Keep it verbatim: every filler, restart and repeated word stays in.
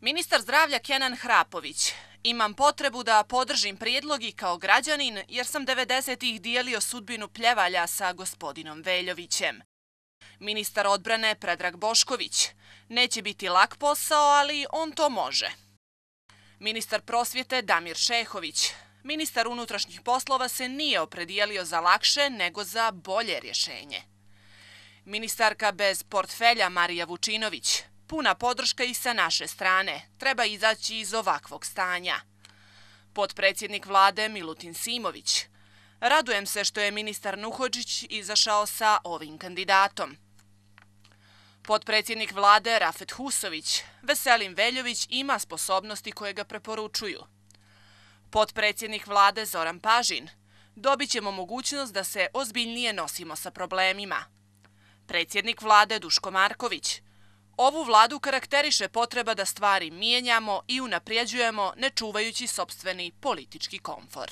Ministar zdravlja Kenan Hrapović. Imam potrebu da podržim prijedlog i kao građanin jer sam devedesetih dijelio sudbinu pljevalja sa gospodinom Veljovićem. Ministar odbrane Predrag Bošković. Neće biti lak posao, ali on to može. Ministar prosvjete Damir Šehović. Ministar unutrašnjih poslova se nije opredijelio za lakše, nego za bolje rješenje. Ministarka bez portfelja Marija Vučinović. Puna podrška i sa naše strane. Treba izaći iz ovakvog stanja. Potpredsjednik vlade Milutin Simović. Radujem se što je ministar Nuhodžić izašao sa ovim kandidatom. Potpredsjednik vlade Rafet Husović. Veselin Veljović ima sposobnosti koje ga preporučuju. Potpredsjednik vlade Zoran Pažin. Dobit ćemo mogućnost da se ozbiljnije nosimo sa problemima. Predsjednik vlade Duško Marković. Ovu vladu karakteriše potreba da stvari mijenjamo i unaprijeđujemo ne čuvajući sopstveni politički komfor.